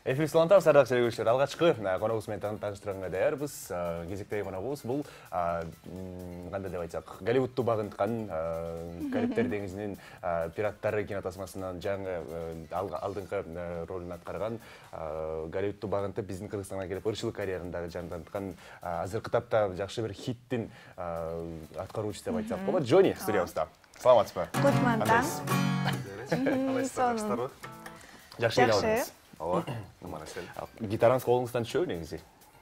Эфир саламатсыздар, сардак көрүүчүлөр. Алгачкы коногубуз менен тааныштырганга даярбыз. Кезектеги коногубуз бул кандай деп айтсак, Голливудту багынткан Карибтер деңизинин пираттары кинотасмасынан жаңы алдыңкы ролун аткарган, Голливудту багынтып биздин Кыргызстанга келип ырчылык карьераны дагы жанданткан, азыркы тапта жакшы бир хиттин аткаруучусу деп айтсак болот. Джонни студиябызда. Саламатсызбы? Кутман таң. Кандайсыздар? Жакшы келдиңиз. Ооба, аман-эсен. Гитараңыз колуңуздан түшөбү негизи?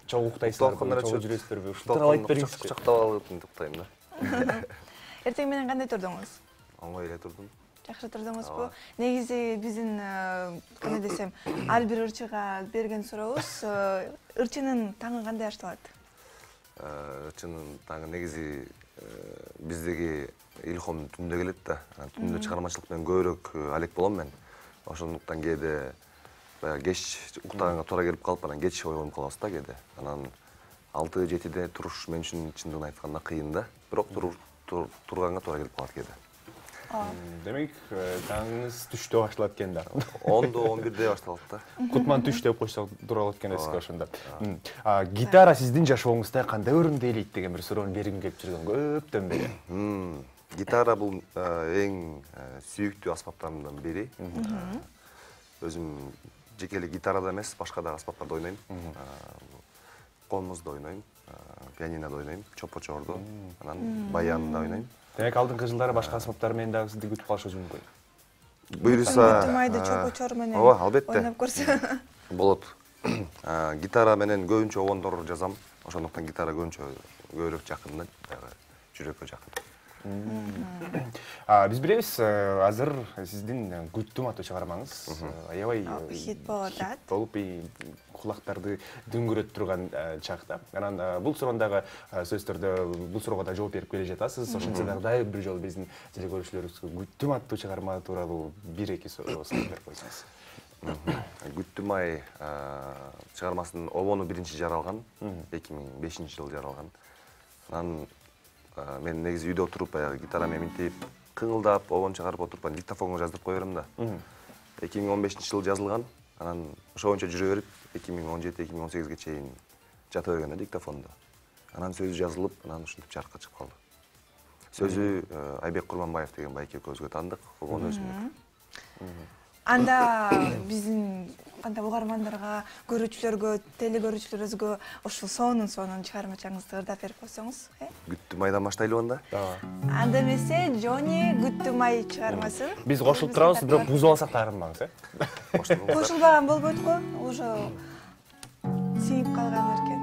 Чогуу уктайсыздарбы, чогуу жүрөсүздөрбү? Ушунтип айтып бериңизчи. Кучактап алып уктайм да. Эртең менен кандай турдуңуз? Оңой эле турдум. Жакшы турдуңузбу? Негизи биздин кандай десем, ар бир ырчыга берген сурообуз, ырчынын таңы кандай башталат? Ырчынын таңы негизи биздеги илхом түндө келет да. Түндө чыгармачылык менен көбүрөөк алек болом мен. Ошондуктан кээде кеч уктаганга туура келип калып, анан кеч ойгонуп калабыз да кээде. Анан 6-7-де туруш мен үчүн чындыгын айтканда кыйын да. Бирок турганга туура келип калат кээде. Демек, таңыңыз түштө башталат экен да. 10-11-де башталат да. Кутман түш деп койсок туура болот экен эске ошондо. Гитара сиздин жашооңузда кандай орунду ээлейт деген бир суроону бергим келип жүргөн көптөн бери. Гитара бул эң сүйүктүү аспаптарымдын бири. Өзүм жекелей гитарада эмес, башка да аспаптарда ойнойм. Комузда ойнойм, пианинода ойнойм, чопочордо, анан баянда ойнойм. Демек, алдыңкы жылдары башка аспаптар менен дагы сизди күтүп калышы мүмкүн. Буюрса, Тымайды чопочор менен албетте. ойноп көрсө. Болот. Гитара менен көбүнчө обондор жазам. Ошондуктан гитара көбүрөөк жакын да, жүрөккө жакын. Биз билебиз, азыр сиздин Күттүм аттуу чыгармаңыз аябай хит болуп атат. Болуп кулактарды дүңгүрөтүп турган чакта. Анан бул суроондагы сөзсүз түрдө бул суроого да жооп берип келе жатасыз. Ошондо дагы дайыр бир жолу биздин телекөрүүчүлөрүбүзгө Күттүм аттуу чыгарма тууралуу 1-2 суроо берип койсоңуз. Күттүм ай чыгармасынын обону биринчи жаралган, 2005-жылы жаралган. Анан мен негизи үйдө отуруп гитара менен минтип, кыңылдап, обон чыгарып отуруп, диктофонго жаздырып кое берем да. 2015-жылы жазылган. Анан ошо боюнча жүрө берип, 2017-2018-ге чейин жата берген да диктофондо. Анан сөзү жазылып, анан ушинтип жарыкка чыгып калды. Сөзү Айбек Курманбаев деген байке экөөбүзгө таандык, обону өзүмдүк. Анда биздин кандай угармандарга, көрүүчүлөргө, телекөрүүчүлөрүбүзгө ушул сонун чыгармачаңызды ырдап берип койсоңуз, Күттүм айдан баштайлыбы анда? Анда эмесе Джонни Күттүм ай чыгармасын. Биз кошулуп турабыз, бирок бузуп алсак да арынбаңыз, Кошулбаган болбойт го, уже сиңип калган эркен.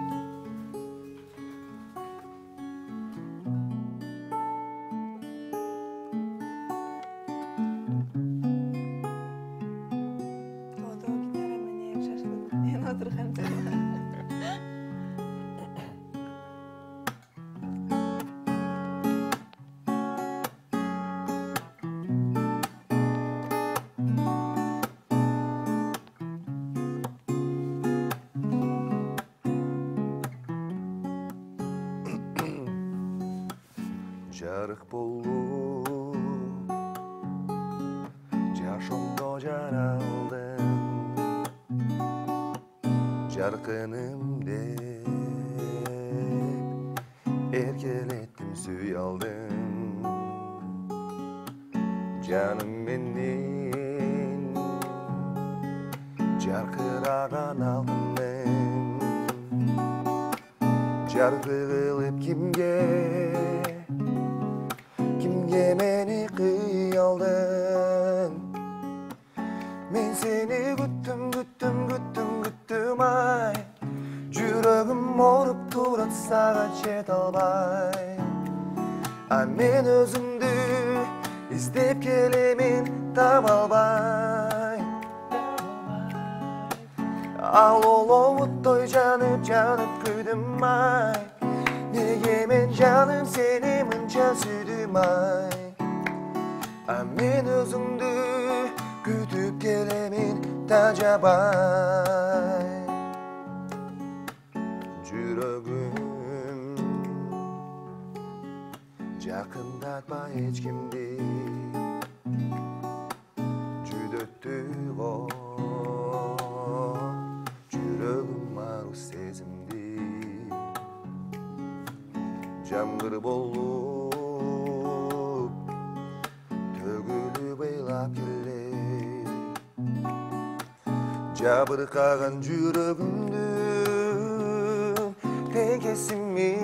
Жарык болуп жашоомдо жаралдым, жаркыным деп эркелеттим, сүйө алдым. Жаным менен жаркыраган алтыным, жаркы кылып Kimge meni kıyaldın? Men seni güttüm ay. Yüreğim orup turat sağa çet albay. Men özümdü istep kelemin tabalbay. Al oluvuttoy janıp küydüm ay. Nege men canım seni mınca sürdüm ay. Men özüңdү kütüp kelemin tacabay. Жүрөгүм жакынdatma эч кимди, жүдөттү го жамгыр болуп төгүлүп ыйлап келе жабыркаган жүрөгүмдүн теңкесимин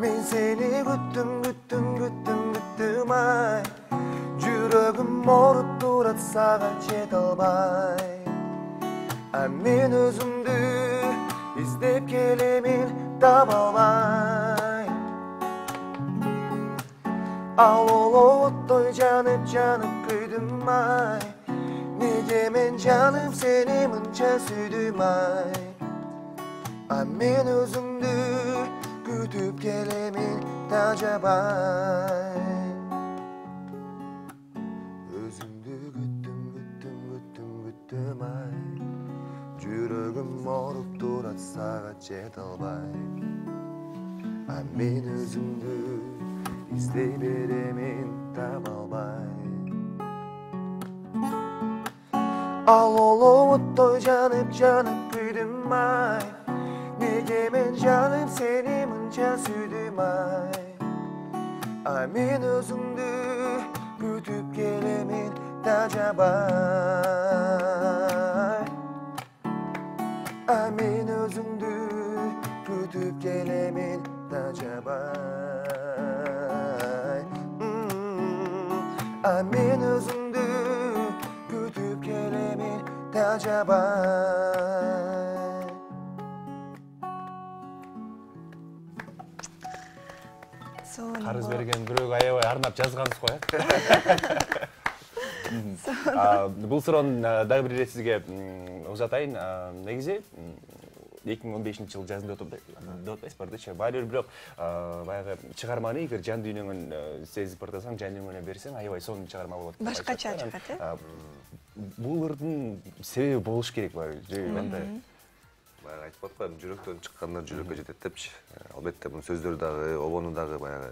мен сени күттүм ай жүрөгүм ооруп турат сага жете албай мен өзүмдү издеп келемин таба албай ал оттой жанып күйдүм ай неге мен жаным сени мынча сүйдүм ай мен өзүмдү күтүп келемин тажабай өзүңдү күттүм ай жүрөгүм ооруп турат сага жете албай мен өзүмдү издей беремин таба албай ал оттой жанып күйдүм ай неге мен жаным сени мынча сүйдүм ай мен өзүмдү күтүп келемин тажабай мен өзүңдү күтүп келемин тажабай мен өзүңдү күтүп келемин тажабай карыз берген бирөөгө аябай арнап жазгансыз го бул суроону дагы бир ирет сизге узатайын негизи 2015-жылы жазында деп атпайсызбы бардычы баары бир бирок баягы чыгарманы эгер жан дүйнөңөн сезип бардасаң жан дүйнөңө берсең аябай сонун чыгарма болот башкача чыгат бул ырдын себеби болуш керекпи же кандай баягы айтып атпаймынбы жүрөктөн чыккандар жүрөккө жетет депчи албетте мунун сөздөрү дагы обону дагы баягы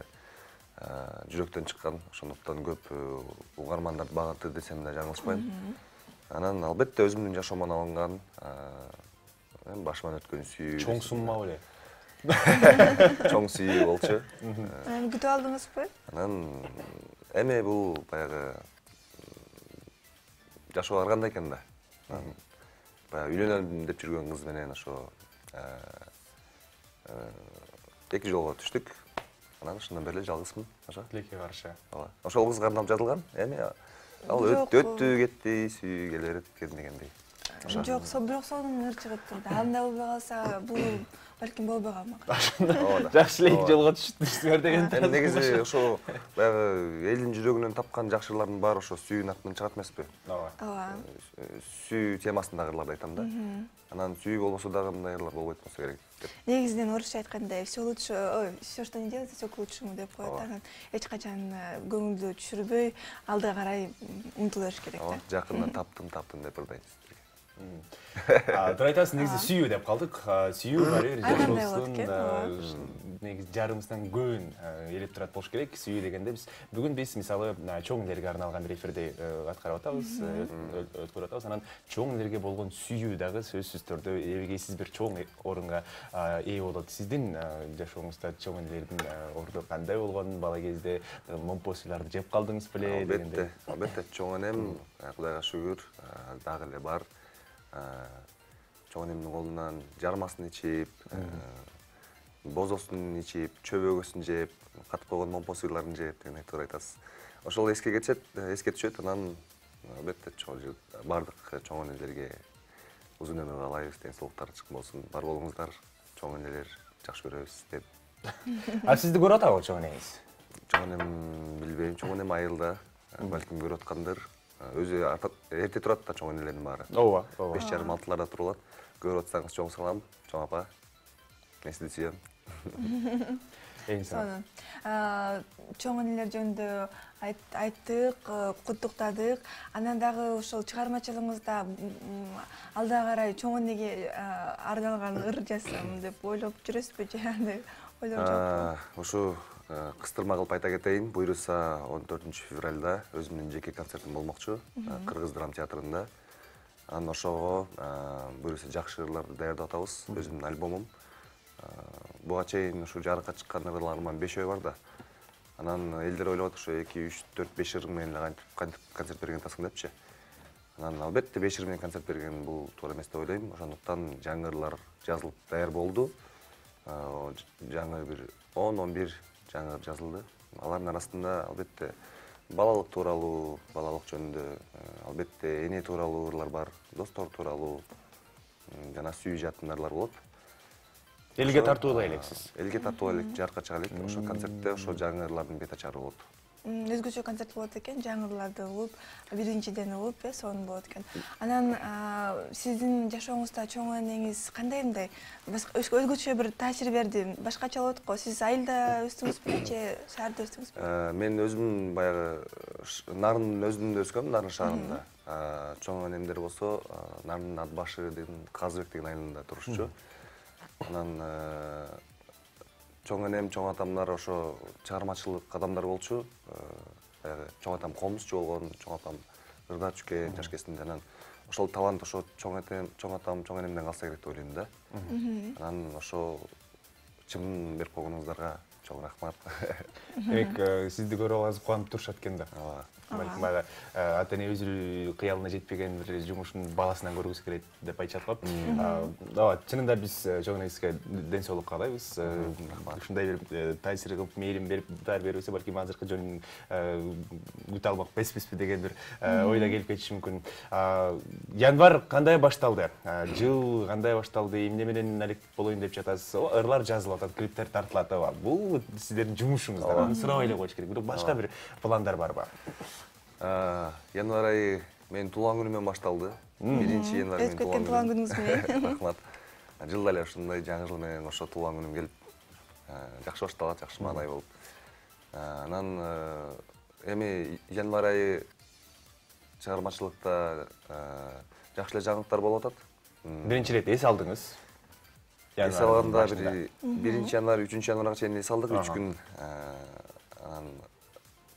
жүрөктөн чыккан ошондуктан көп угармандарды багыты десем да жаңылышпайм анан албетте өзүмдүн жашоомдон алынган башыман өткөн сүйүү чоң сумма беле чоң сүйүү болчу күтүп алдыңызбы анан эми бул баягы жашоо ар кандай экен да баягы үйлөнөм деп жүргөн кыз менен ошо 2 жолго түштүк анан ошондон бери эле жалгызмын ошо тилекке каршы ооба ошол кызга арнап жазылган эми ал өттү кетти сүйүү келе берет кезинегендей жок бирок сонун ыр чыгып турду андай болбой калса бул балким болбой калмак жакшы эле 2 жолго түштүңөр деген эми негизи ошо баягы элдин жүрөгүнөн тапкан жакшы ырлардын баары ошо сүйүүнүн атынан чыгат эмеспи ооба сүйүү темасындагы ырларды айтам да анан сүйүү болбосо дагы мындай ырлар болбойт болсо керек деп негизинен орусча айткандай все лучше все что не делается все к лучшему деп коет анан эч качан көңүлдү түшүрбөй алдыга карай умтула бериш керек да жакында таптым деп ырдайт туура айтасыз негизи сүйүү деп калдык сүйүү баары бир жашообуздун негизи жарымыбыздан көбүн ээлеп турат болуш керек сүйүү дегенде бүгүн биз мисалы чоң элерге арналган бир эфирди аткарып атабыз өткөрүп атабыз анан чоң элерге болгон сүйүү дагы сөзсүз түрдө эбегейсиз бир чоң орунга ээ болот сиздин жашооңузда чоң элердин орду кандай болгон бала кезде момпосуйларды жеп калдыңыз беле албетте чоң энем кудайга шүгүр дагы эле бар чоң энемдин колунан жармасын ичип бозосун ичип чөбөгөсүн жеп катып койгон момпо сыйларын жеп деген туура айтасыз ошол эске түшөт анан албетте баардык чоң энелерге узун өмүр каалайбыз ден соолуктары чыккан болсун бар болуңуздар чоң энелер жакшы көрөбүз деп сизди көрүп атабы чоң энеңиз чоң энем билбейм чоң энем айылда балким көрүп аткандыр өзү эрте турат да чоң энелердин баары ооба 5:30-6:00 туруп алат көрүп атсаңыз чоң салам чоң апа мен сизди сүйөм сонун чоң энелер жөнүндө айттык куттуктадык анан дагы ошол чыгармачылыгыңызда алдыга карай чоң энеге арналган ыр жазсам деп ойлоп жүрөсүзбү же андай ойлор жокпу ушу кыстырма кылып айта кетейин буюрса 14-февралда өзүмдүн жеке концертим болмокчу Кыргыз драма театрында анан ошого буюрса жакшы ырларды даярдап атабыз өзүмдүн альбомум буга чейин ушу жарыкка чыккан ырларыман 5 бар да. Анан элдер ойлоп атат, ошо 2, 3, 4, 5 ыр менен кантип концерт берген атасың депчи. Анан албетте 5 ыр менен концерт берген бул туура эмес деп ойлойм. Ошондуктан жаңы ырлар жазылып даяр болду. Жаңы бир 10-11 жаңы ыр жазылды. Алардын арасында албетте балалык тууралуу, балалык жөнүндө, албетте эне тууралуу ырлар бар, достор тууралуу, жана сүйүү жатын ырлар болот. Элге тартуулай элексиз. Элге тартуулай элек, жарыкка чыга элек. Ошо концертте ошо жаңы ырлардын бет ачары болот. Өзгөчө концерт болот экен, жаңы ырларды угуп, биринчиден угуп, сонун болот экен. Анан сиздин жашооңузда чоң энеңиз кандай өзгөчө бир таасир берди? Башкача болот го. Сиз айылда өстүңүзбү же шаарда өстүңүзбү? Мен өзүм баягы Нарын өзүндө өскөм, Нарын шаарында. Чоң энемдер болсо Нарын Атбашы деген Казыбек деген айылында турушчу. Анан чоң энем, чоң атамдар ошо чыгармачылык адамдар болчу. Баягы чоң атам комузчу болгон, чоң атам ырда чүккен жаш кезинде. Анан ошол талант ошо чоң атам, чоң энемден калса керек деп ойлойм да. Анан ошо чымын берип койгонуңуздарга чоң рахмат. Демек, сизди көрүп алганыңыз кубанып турушат экен да. Балким баягы ата эне өз кыялына жетпеген бир жумушун баласынан көргүсү келет деп айтышат го. Ооба, чынында биз чоң энеңизге ден соолук каалайбыз. Ушундай бир таасир кылып, мээрим берип, даар бербесе, балким азыркы жөнүн күтө алмак эмеспизби деген бир ой да келип кетиши мүмкүн. Январь кандай башталды? Жыл кандай башталды? Эмне менен алек болоюн деп жатасыз? Ырлар жазылып атат, клиптер тартылат. Бул сиздердин жумушуңуз да. Аны сурабай эле коюш керек. Бирок башка бир пландар барбы? Январь айы менин туулган күнүмөн башталды. 1-январь менин туулган күнүңүз менен. Рахмат. Жылда эле ушундай жаңы жыл менен ошо туулган күнүм келип, жакшы башталат, жакшы маанай болуп. Анан эми январь айы чыгармачылыкта жакшы эле жаңылыктар болуп атат. Биринчи ирет эс алдыңыз? Эс алганда 1-январь, 3-январга чейин эс алдык 3 күн. Анан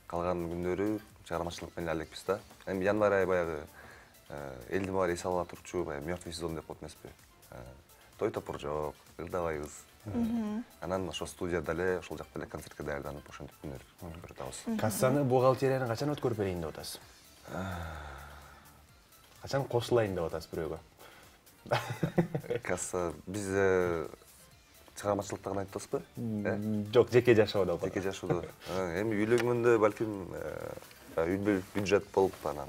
калган күндөрү чыгармачылык менен элекпиз да. Эми январь айы баягы элдин баары эс ала турчу, баягы мёртвый сезон деп коет эмеспи? Той топур жок, ырдабайбыз. Анан ошо студияда эле, ошол жакта эле концертке даярданып, ошентип күндөр өткөрүп атабыз. Кассаны, бухгалтерияны качан өткөрүп берейин деп атасыз? Качан кошулайын деп атасыз бирөөгө? Касса биз чыгармачылыкта гана айтып атасызбы? Жок, жеке жашоодо. Жеке жашоодо. Эми үйлөнгөндө балким үй бюджет болуп, анан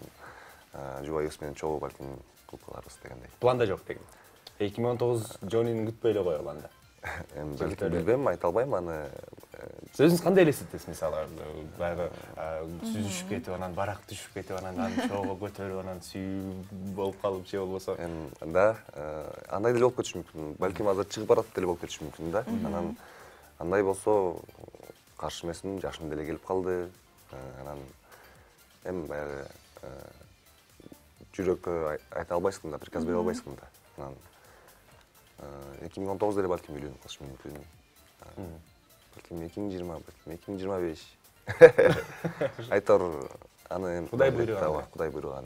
жубайыбыз менен чогуу балким кылып каларбыз дегендей. Планда жок деген. 2019 жонун күтпөй эле коелу анда. Эми балким билбейм, айта албайм аны. Сиз өзүңүз кандай элестетесиз, мисалы, баягы сүзүшүп кетип, анан барак түшүп кетип, анан аны чоого көтөрүп, анан сүйүү болуп калып же болбосо? Да, андай деле болуп кетиши мүмкүн. Балким азыр чыгып барат деле болуп кетиши мүмкүн да. Анан андай болсо каршы эмесмин, жашым деле келип калды. Анан эми баягы жүрөккө айта албайсың да, приказ бере албайсың да. Анан 2019 деле балким үйлөнүп калышым мүмкүн. Балким 2020, балким 2025. Айтор аны Кудай буйруган. Кудай буйруган.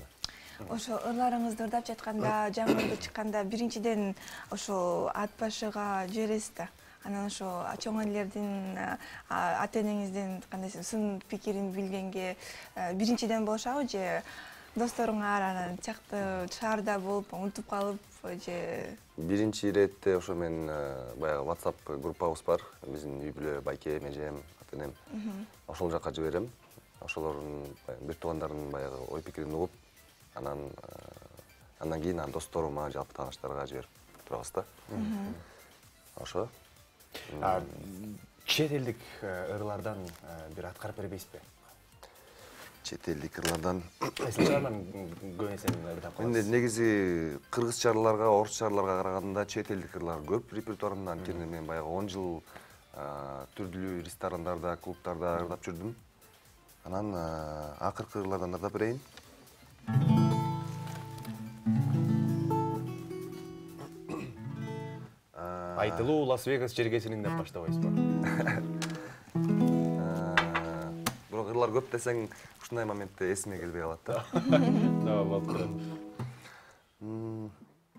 Ошо ырларыңызды ырдап жатканда, жаңы ырды чыкканда биринчиден ошо ат башыга жибересиз да. Анан ошо чоң энелердин, ата энеңиздин кандай сын пикирин билгенге биринчиден болушабы же досторуңар анан чакты шаарда болуп унутуп калып же? Биринчи иретте ошо мен баягы WhatsApp группабыз бар. Биздин үй бүлө, байке, эжем, ата энем. Ошол жака жиберем. Ошолордун бир туугандардын баягы ой пикирин угуп, анан кийин досторума, жалпы тааныштарга жиберип турабыз да. Ошо. Чет элдик ырлардан бир аткарып бербейсизби? Чет элдик ырлардан Эсилчалардан көбүнесе ырдап каласыз. Менде негизи кыргызчаларга, орусчаларга караганда чет элдик ырлар көп репертуарымда. Анткени мен баягы 10 жыл түрдүү ресторандарда, клубтарда ырдап жүрдүм. Анан акыркы ырлардан ырдап берейин. Айтылуу Лас-Вегас жергесинин деп баштабайсызбы? Бирок ырлар көп десең, ушундай моментте эсиме келбей калат да. Болуп турат.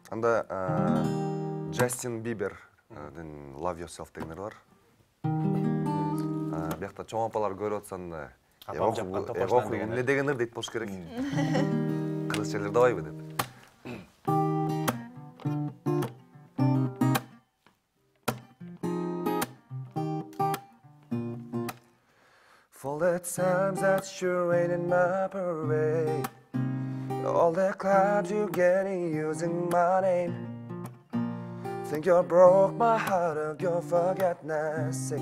Анда Джастин Бибер Love Yourself дегендер бар. Биякта чоң апалар көрүп атсаң да, апам жапкан топаштан деген эмне дегендер дейт болуш керек. Кыргызчалар давайбы деп. For the times that you rain in my parade, all the clubs you get in using my name. Think you broke my heart of your forgetfulness.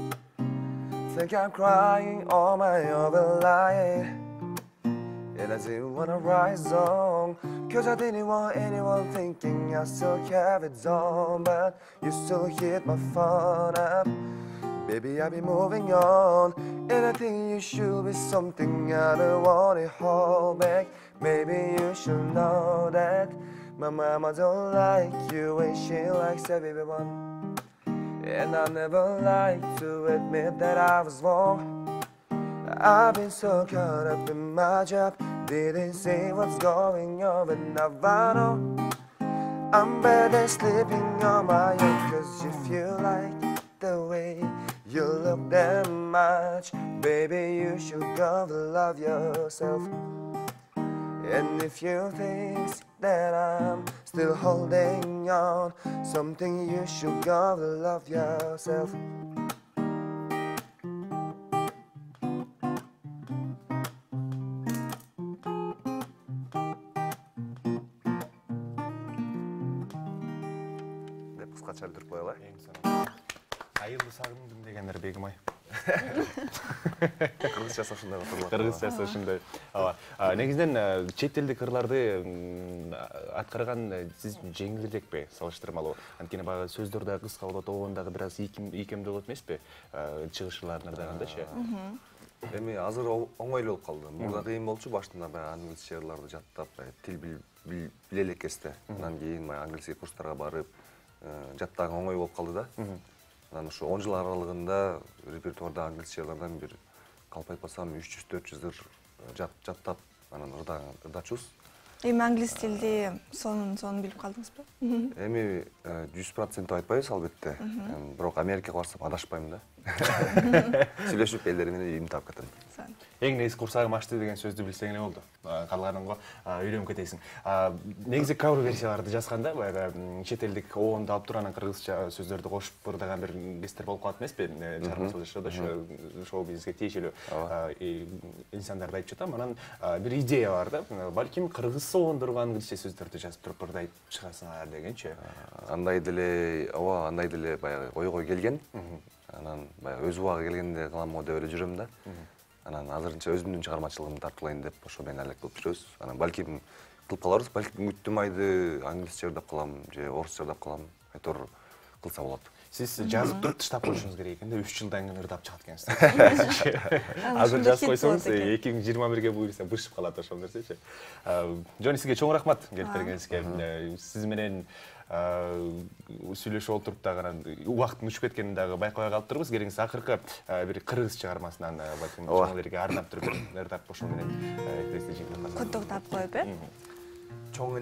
Think I'm crying all my over lying. And I didn't wanna rise on, cause I didn't want anyone thinking I still have it on. But you still hit my phone up. Baby, I'll be moving on, and I think you should be something I don't want to hold back. Maybe you should know that my mama don't like you and she likes everyone. And I never like to admit that I was wrong. I've been so caught up in my job, didn't see what's going on, but now I know I'm better sleeping on my own. Cause if you like the way you look that much, baby, you should go to love yourself. And if you think that I'm still holding on, something you should go to love yourself. Деп кыскача билдирип коелу. Айылды сагындым дегендер Бегим ай. Кыргызчасы ушундай катырлар. Кыргызчасы ушундай. Ооба. Негизинен чет элдик ырларды аткарган сиз жеңилирекпи салыштырмалуу? Анткени баягы сөздөр да кыска болот, оон дагы бир аз ийкемдүү болот эмеспи? Чыгышларын ырдагандачы. Эми азыр оңой болуп калды. Мурда кыйын болчу, баштында баягы англисче ырларды жаттап, тил биле элек кезде. Андан кийин баягы англисче курстарга барып, жаттаган оңой болуп калды да. Анан ушу 10 жыл аралыгында репертуарда англисче ырлардан бир калп айтпасам 300-400 ыр жаттап, анан ырдачубуз. Эми англис тилди сонун билип калдыңызбы? Эми 100% айтпайбыз албетте. Бирок Америкага барсам адашпайм да. Сүйлөшүп элдер менен үйүм таап кетем. Эң негизи курсагым ачты деген сөздү билсең эле болду. Калганынго үйрөнүп кетесиң. Негизи кавер версияларды жазганда баягы чет элдик оонду алып туруп анан кыргызча сөздөрдү кошуп ырдаган бир кездер болуп калат эмеспи? Чыгармачылык жашоодо шоу бизнеске тиешелүү инсандарды айтып жатам. Анан бир идея бар да. Балким кыргыз оондурган англисче сөздөрдү жазып туруп ырдайт чыгасыңар дегенчи. Андай деле, ооба, андай деле баягы ойго келген. Анан баягы өз убагы келгенде кылам го деп эле жүрөм да. Анан азырынча өзүмдүн чыгармачылыгымды тартуулайын деп ошо менен алек кылып жүрөбүз. Анан балким кылып каларбыз, балким Күттүм айды англисче ырдап калам же орусча ырдап калам. Айтор кылса болот. Сиз жазып туруп таштап коюшуңуз керек экен да, 3 жылдан кийин ырдап чыгат экенсиз. Азыр жазып койсоңуз 2021-ге буюрса бышып калат ошол нерсечи. Жони, сизге чоң рахмат келип бергениңизге. Сиз менен сүйлөшүп отуруп дагы анан убакыттын учуп кеткенин дагы байкабай калыптырбыз. Келиңиз акыркы бир кыргыз чыгармасынан балким чоң элерге арнап туруп ырдап ошол менен эфирди жыйынтыктап Куттуктап коюп, Чоң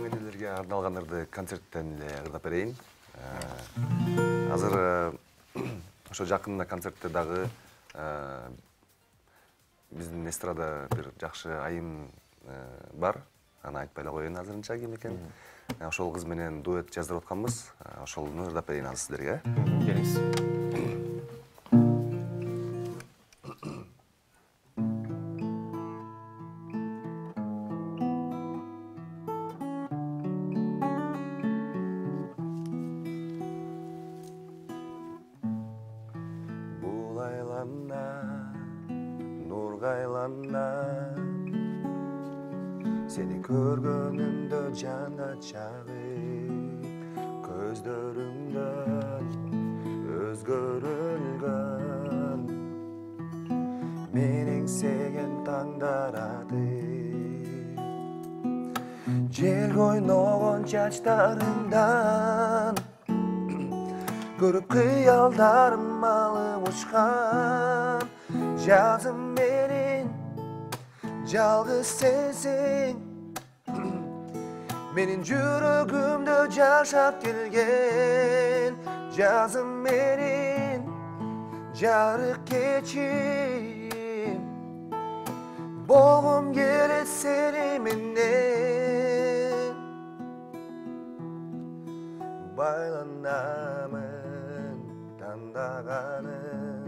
энелерге арналган ырды концерттен эле ырдап берейин. Азыр ошо жакында концертте дагы биздин эстрада бир жакшы айым бар. Аны айтпай эле коеюн азырынча ким экен. Ошол кыз менен дуэт жаздырып атканбыз. Ошолну ырдап берейин азыр сиздерге. Келиңиз. Бул айлана, нурга айлана, сени көргөнүмдө жанга чагып, көздөрүңдөн өзгөрүлгөн менин сеген таңдар атып, жел ойногон чачтарыңдан көрүп кыялдарым алып учкан, жазым менен жалгыз сенсиң, Менин жүрөгүмдө жашап келген жазым менин жарык кечим болгум келет сени менен байланамын тандаганым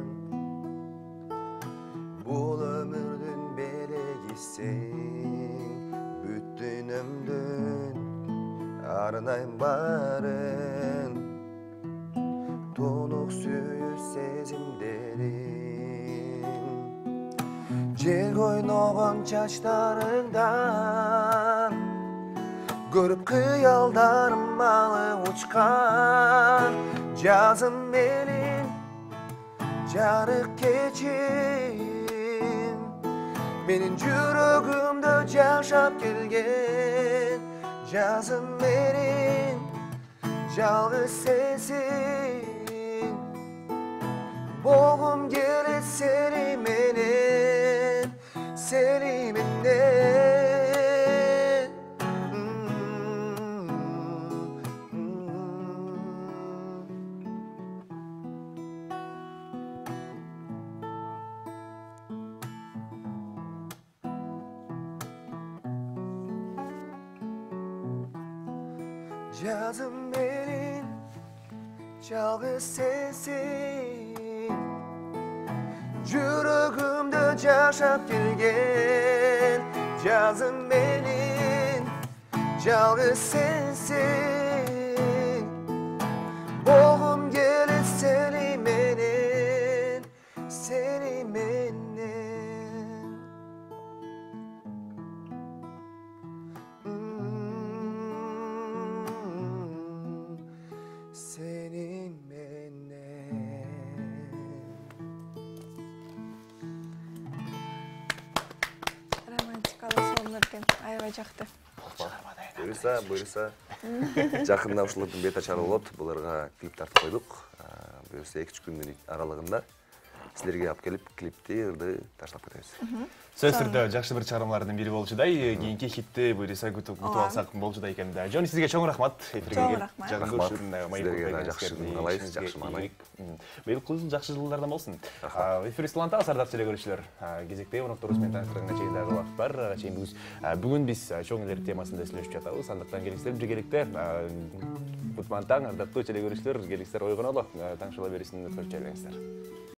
бул өмүрдүн белегисиң бүт дүйнөмдүн арнайм барын тунук сүйүү сезимдерим желге ойногон чачтарыңдан көрүп кыялдарым алып учкан жазым менин жарык кечим менин жүрөгүмдө жашап келген жазым менин жалгыз сенсиң болгум келет сени менен жазым менин жалгыз сенсиң жүрөгүмдө жашап келген жазым менин жалгыз сенсиң болгум келет сени менен Senin menен. Романтикалык сонун экен, аябай жакты. Буюрса. Жакында ушулардын бет ачары болот. Буларга клип тартып койдук. Буюрса 2-3 күндүн аралыгында силерге алып келип клипти ырды таштап кетебиз. Сөз түрдө жакшы бир чыгармалардын бири болчудай. Кийинки хитти буюрса күтүп алсак болчудай экен да. Жони, сизге чоң рахмат. Чоң рахмат. Силерге жакшы маалайсыз, жакшы маанай. Быйылкы жыл жакшы жылдардан болсун. Эфир Слантабыз, ардактуу көрүүчүлөр. Кезектеги конокторубуз менен таанышканга чейин дагы убакыт бар. Бүгүн биз чоң элер темасында сүйлөшүп жатабыз. Андыктан келиңиздер биргеликте кутман таң, ардактуу көрүүчүлөр, келиңиздер ойгонолу, таңшыла берүүсүн өткөрүп жибериңиздер.